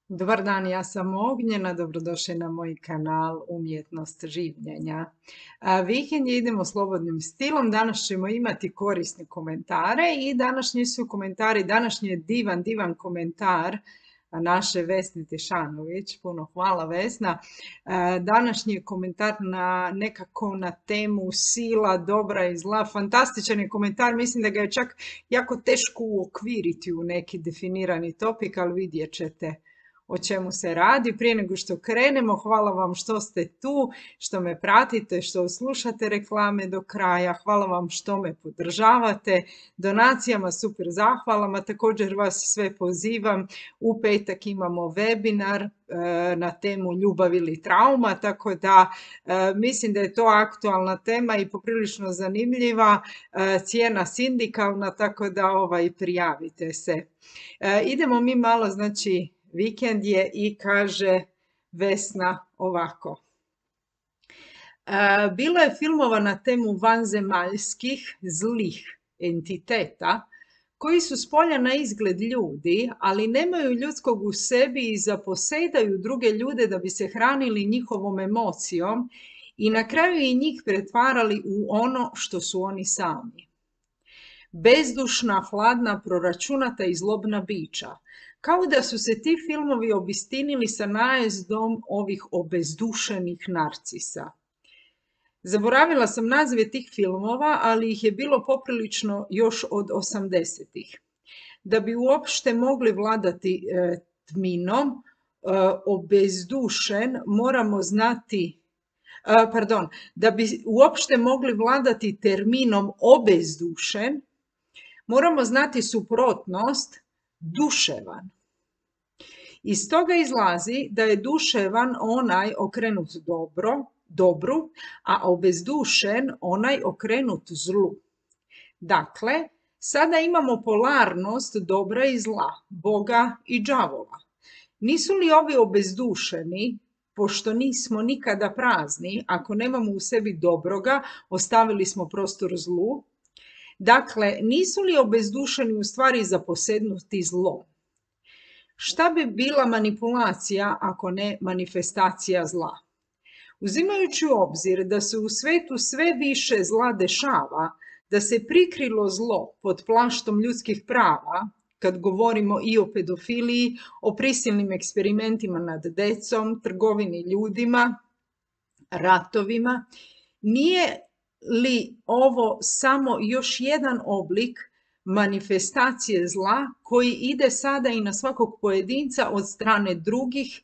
Dobar dan, ja sam Ognjena, dobrodošli na moj kanal Umjetnost življenja. Vikend je idemo slobodnim stilom, danas ćemo imati korisne komentare i današnji su komentari, današnji je divan komentar naše Vesne Tešanović, puno hvala Vesna. Današnji je komentar nekako na temu sila, dobra i zla, fantastičan je komentar, mislim da ga je čak jako teško uokviriti u neki definirani topik, ali vidjet ćete o čemu se radi. Prije nego što krenemo, hvala vam što ste tu, što me pratite, što slušate reklame do kraja, hvala vam što me podržavate, donacijama super zahvalama, također vas sve pozivam, u petak imamo webinar na temu ljubav ili trauma, tako da mislim da je to aktualna tema i poprilično zanimljiva, cijena sindikalna, tako da prijavite se. Idemo mi malo, znači, vikend je i kaže Vesna ovako. Bilo je filmova na temu vanzemaljskih zlih entiteta koji su spolja na izgled ljudi, ali nemaju ljudskog u sebi i zaposedaju druge ljude da bi se hranili njihovom emocijom i na kraju i njih pretvarali u ono što su oni sami. Bezdušna, hladna, proračunata i zlobna bića. Kao da su se ti filmovi obistinili sa najezdom ovih obezdušenih narcisa. Zaboravila sam nazive tih filmova, ali ih je bilo poprilično još od 80-ih. Da bi uopšte mogli vladati tminom, obezdušen, moramo znati, da bi uopšte mogli vladati terminom obezdušen, moramo znati suprotnost duševan. Iz toga izlazi da je duševan onaj okrenut dobru, a obezdušen onaj okrenut zlu. Dakle, sada imamo polarnost dobra i zla, Boga i đavola. Nisu li ovi obezdušeni, pošto nismo nikada prazni, ako nemamo u sebi dobroga, ostavili smo prostor zlu? Dakle, nisu li obezdušeni u stvari zaposednuti zlom? Šta bi bila manipulacija ako ne manifestacija zla? Uzimajući u obzir da se u svetu sve više zla dešava, da se prikrilo zlo pod plaštom ljudskih prava, kad govorimo i o pedofiliji, o prisilnim eksperimentima nad decom, trgovini ljudima, ratovima, nije li ovo samo još jedan oblik manifestacije zla koji ide sada i na svakog pojedinca od strane drugih,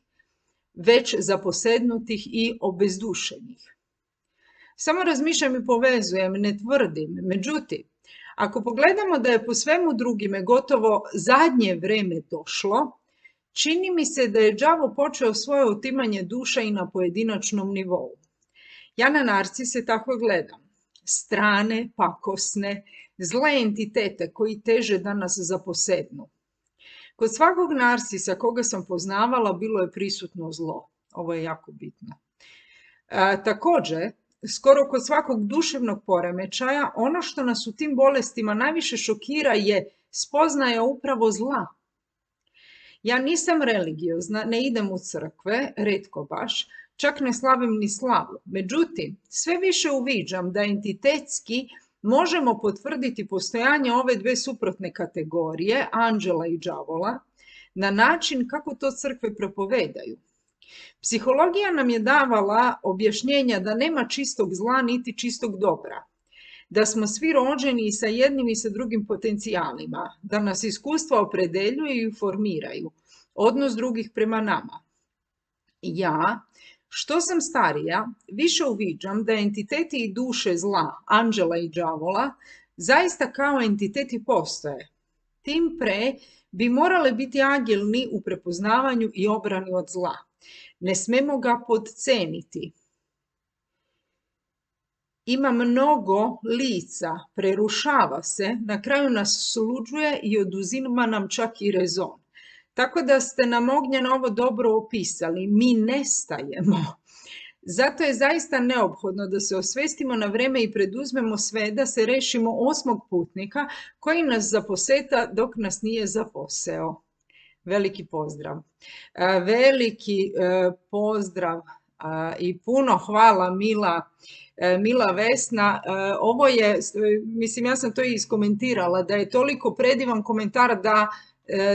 već zaposednutih i obezdušenih? Samo razmišljam i povezujem, ne tvrdim. Međutim, ako pogledamo da je po svemu drugime gotovo zadnje vreme došlo, čini mi se da je đavo počeo svoje otimanje duša i na pojedinačnom nivou. Ja na narcise tako gledam. Strane, pakosne, zle entitete koji teže da nas zaposednu. Kod svakog narcisa koga sam poznavala bilo je prisutno zlo. Ovo je jako bitno. Također, skoro kod svakog duševnog poremećaja, ono što nas u tim bolestima najviše šokira je spoznaja upravo zla. Ja nisam religiozna, ne idem u crkve, retko baš, čak ne slavim ni slavu. Međutim, sve više uviđam da entitetski možemo potvrditi postojanje ove dve suprotne kategorije, anđela i đavola, na način kako to crkve propovedaju. Psihologija nam je davala objašnjenja da nema čistog zla niti čistog dobra, da smo svi rođeni i sa jednim i sa drugim potencijalima, da nas iskustva opredeljuju i formiraju odnos drugih prema nama. Ja, što sam starija, više uviđam da entiteti i duše zla, anđela i đavola, zaista kao entiteti postoje. Tim pre bi morale biti agilni u prepoznavanju i obrani od zla. Ne smemo ga podceniti. Ima mnogo lica, prerušava se, na kraju nas sluđuje i oduzima nam čak i rezon. Tako da ste nam, Ognjena, ovo dobro opisali. Mi nestajemo. Zato je zaista neophodno da se osvestimo na vreme i preduzmemo sve da se rešimo 8. putnika koji nas zaposeta dok nas nije zaposeo. Veliki pozdrav. Veliki pozdrav i puno hvala Mila Vesna. Ovo je, mislim, ja sam to i iskomentirala, da je toliko predivan komentar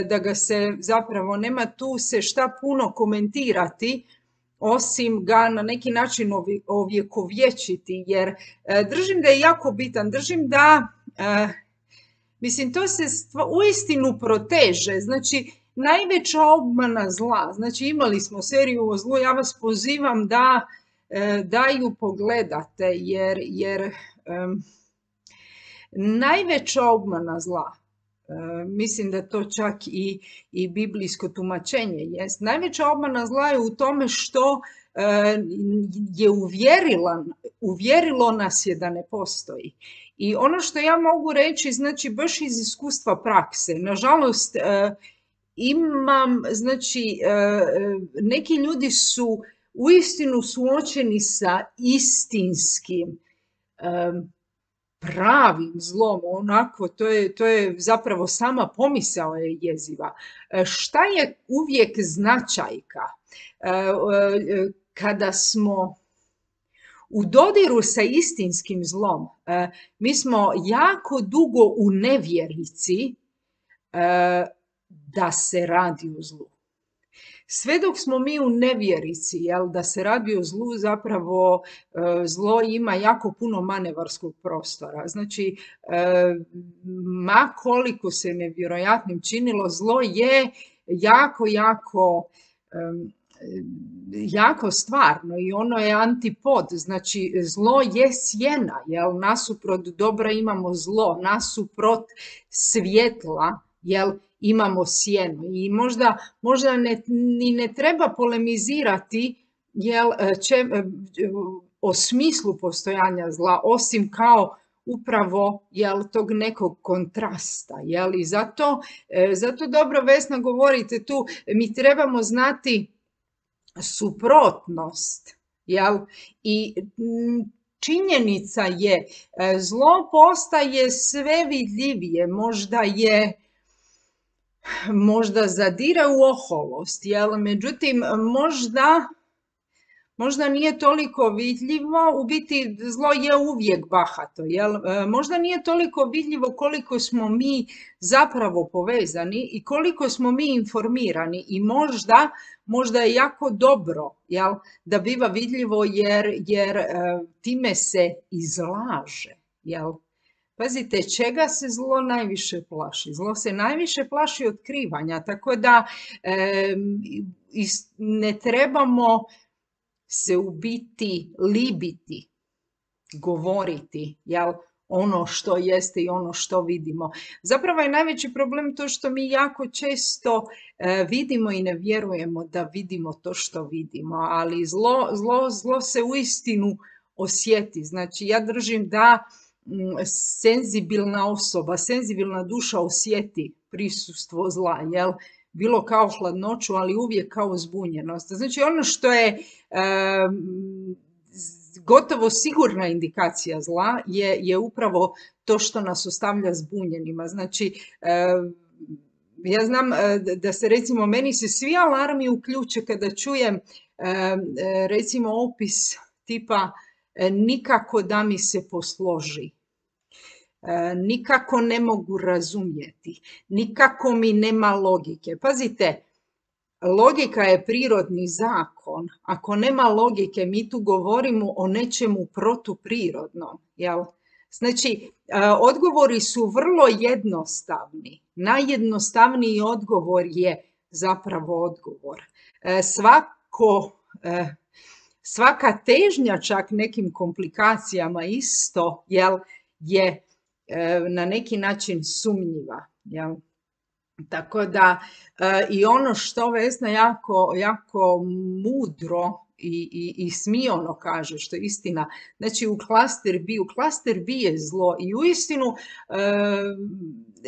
da ga se zapravo nema tu se šta puno komentirati, osim ga na neki način ovjekovječiti, jer držim da je jako bitan. Držim da, mislim, to se uistinu proteže. Znači, najveća obmana zla, znači imali smo seriju o zlu, ja vas pozivam da ju pogledate, jer najveća obmana zla, mislim da to čak i biblijsko tumačenje jest, najveća obmana zla je u tome što je uvjerilo nas je da ne postoji. I ono što ja mogu reći, znači baš iz iskustva prakse, nažalost imam, znači neki ljudi su uistinu suočeni sa istinskim pravim zlom, onako, to je zapravo sama pomisao je jeziva. Šta je uvijek značajka? Kada smo u dodiru sa istinskim zlom, mi smo jako dugo u nevjerici da se radi o zlu. Sve dok smo mi u nevjerici, da se radi o zlu, zapravo zlo ima jako puno manevarskog prostora. Znači, ma koliko se nevjerojatnim činilo, zlo je jako stvarno i ono je antipod. Znači, zlo je sjena, nasuprot dobra imamo zlo, nasuprot svjetla, imamo sjenu. I možda ni ne treba polemizirati o smislu postojanja zla, osim kao upravo tog nekog kontrasta. I zato dobro, Vesna, govorite tu, mi trebamo znati suprotnost. I činjenica je, zlo postaje sve vidljivije, možda zadire u oholost, međutim možda nije toliko vidljivo, u biti zlo je uvijek bahato, možda nije toliko vidljivo koliko smo mi zapravo povezani i koliko smo mi informirani i možda je jako dobro da biva vidljivo jer time se izlaže, Pazite, čega se zlo najviše plaši? Zlo se najviše plaši otkrivanja, tako da ne trebamo se u biti libiti, govoriti, ono što jeste i ono što vidimo. Zapravo je najveći problem to što mi jako često vidimo i ne vjerujemo da vidimo to što vidimo, ali zlo se uistinu osjeti. Znači, ja držim da senzibilna osoba, senzibilna duša osjeti prisustvo zla, bilo kao hladnoću, ali uvijek kao zbunjenost. Znači, ono što je gotovo sigurna indikacija zla je upravo to što nas ostavlja zbunjenima. Znači, ja znam da se, recimo, meni se svi alarmi uključe kada čujem recimo opis tipa nikako da mi se posloži, nikako ne mogu razumjeti, nikako mi nema logike. Pazite, logika je prirodni zakon. Ako nema logike, mi tu govorimo o nečemu protuprirodnom. Znači, odgovori su vrlo jednostavni. Najjednostavniji odgovor je zapravo odgovor. Svaka težnja čak nekim komplikacijama isto je na neki način sumnjiva. Tako da i ono što Vesna jako mudro i smiono kaže, što je istina, znači u klaster B je zlo i uistinu,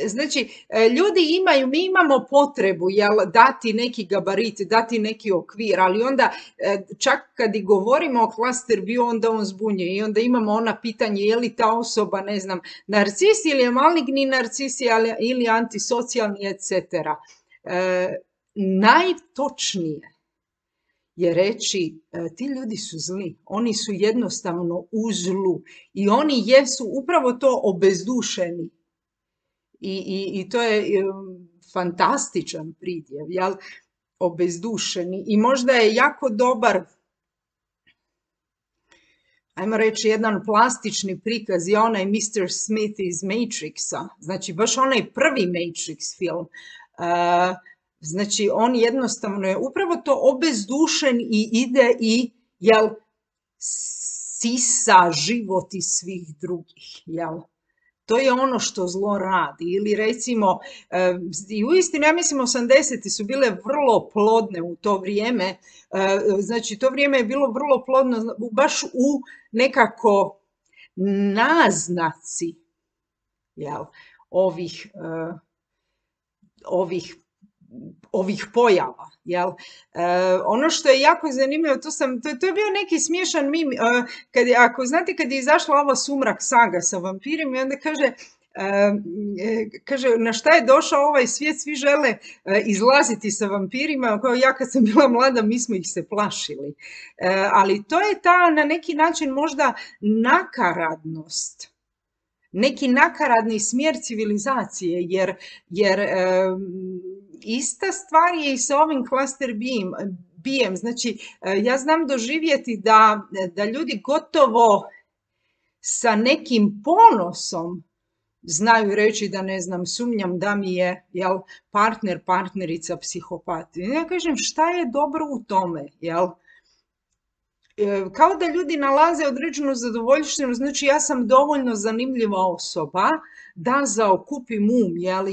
znači ljudi mi imamo potrebu dati neki gabarit, dati neki okvir, ali onda čak kad i govorimo o klaster B, onda on zbunjuje i onda imamo ona pitanje je li ta osoba, ne znam, narcis ili je maligni narcis ili antisocijalni, etc. najtočnije je reći ti ljudi su zli, oni su jednostavno u zlu i oni jesu upravo to obezdušeni. I to je fantastičan pridjev, jel? Obezdušeni. I možda je jako dobar, ajmo reći, jedan plastični prikaz je onaj Mr. Smith iz Matrixa, znači baš onaj prvi Matrix film. Znači on jednostavno je upravo to obezdušen i ide i sisa život iz svih drugih, jel? To je ono što zlo radi. Ili recimo, i uistinu, ja mislim 80. su bile vrlo plodne u to vrijeme. Znači, to vrijeme je bilo vrlo plodno baš u nekako naznaci, jel, ovih pojava. Jel? Ono što je jako zanimljivo, to je bio neki smiješan mim, ako znate kad je izašla ova Sumrak saga sa vampirima i onda kaže na šta je došao ovaj svijet, svi žele izlaziti sa vampirima, kao ja kad sam bila mlada mi smo ih se plašili. Ali to je ta na neki način možda nakaradnost, neki nakaradni smjer civilizacije, jer ista stvar je i sa ovim cluster B-em. Znači, ja znam doživjeti da ljudi gotovo sa nekim ponosom znaju reći da, ne znam, sumnjam da mi je, jel, partnerica psihopat. I ja kažem, šta je dobro u tome, jel? Kao da ljudi nalaze određenu zadovoljštinu, znači ja sam dovoljno zanimljiva osoba da zaokupim jel,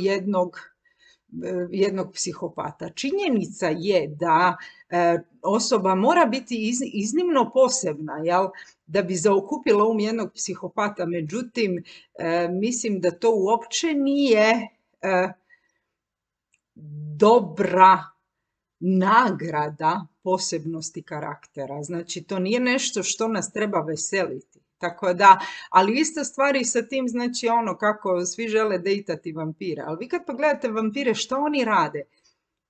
jednog psihopata. Činjenica je da osoba mora biti iznimno posebna, jel, da bi zaokupila jednog psihopata. Međutim, mislim da to uopće nije dobra nagrada posebnosti karaktera. Znači, to nije nešto što nas treba veseliti. Tako da, ali ista stvar i sa tim, znači ono kako svi žele dejtati vampire. Ali vi kad pogledate vampire, što oni rade?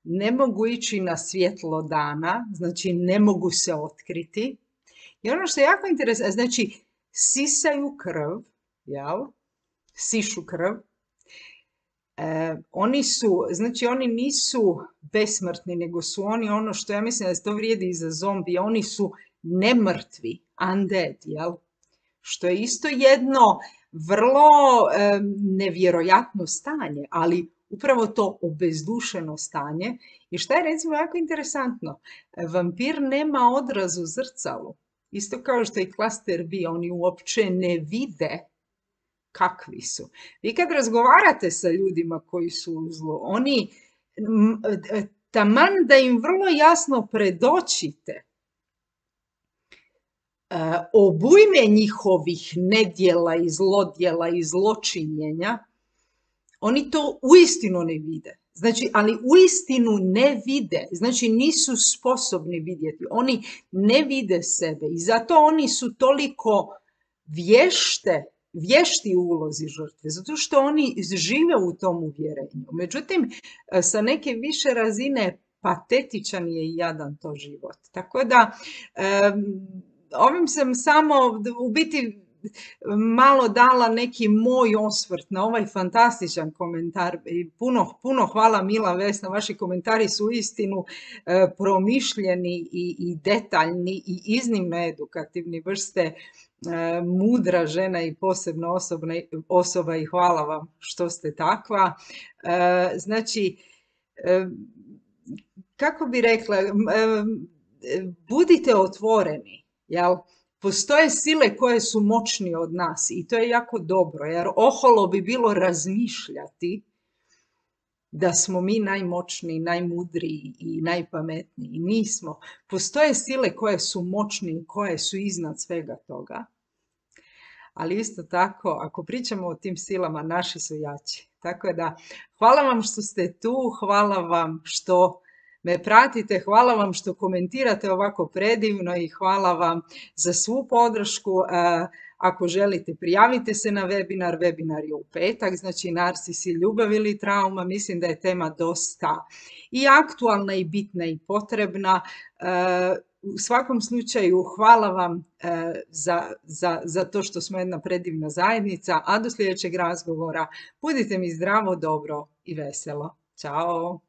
Ne mogu ići na svjetlo dana, znači ne mogu se otkriti. I ono što je jako interesantno, znači sisaju krv, jel? Sišu krv. Oni nisu besmrtni, nego su oni ono što ja mislim da to vrijedi i za zombije, oni su nemrtvi, undead, jel? Što je isto jedno vrlo nevjerojatno stanje, ali upravo to obezdušeno stanje. I šta je recimo jako interesantno, vampir nema odraz u zrcalu. Isto kao što i cluster B, oni uopće ne vide kakvi su. Vi kad razgovarate sa ljudima koji su u zlu, oni, taman da im vrlo jasno predočite obujme njihovih nedjela i zlodjela i zločinjenja, oni to uistinu ne vide. Znači, ali uistinu ne vide, znači nisu sposobni vidjeti, oni ne vide sebe i zato oni su toliko vješti u ulozi žrtve, zato što oni žive u tom uvjerenju. Međutim, sa neke više razine patetičan je i jadan to život. Tako da, ovim sam samo u biti malo dala neki moj osvrt na ovaj fantastičan komentar i puno hvala Mila, Vesna, vaši komentari su uistinu promišljeni i detaljni i iznimno edukativni, baš ste mudra žena i posebno osoba i hvala vam što ste takva. Znači, kako bi rekla, budite otvoreni, jel? Postoje sile koje su moćnije od nas i to je jako dobro, jer oholo bi bilo razmišljati da smo mi najmoćniji, najmudriji i najpametniji. Nismo. Postoje sile koje su moćnije, koje su iznad svega toga. Ali isto tako, ako pričamo o tim silama, naši su jači. Tako da, hvala vam što ste tu, hvala vam što me pratite. Hvala vam što komentirate ovako predivno i hvala vam za svu podršku. Ako želite, prijavite se na webinar. Webinar je u petak, znači narsisi, ljubav ili trauma. Mislim da je tema dosta i aktualna i bitna i potrebna. U svakom slučaju, hvala vam za to što smo jedna predivna zajednica, a do sljedećeg razgovora budite mi zdravo, dobro i veselo. Ćao!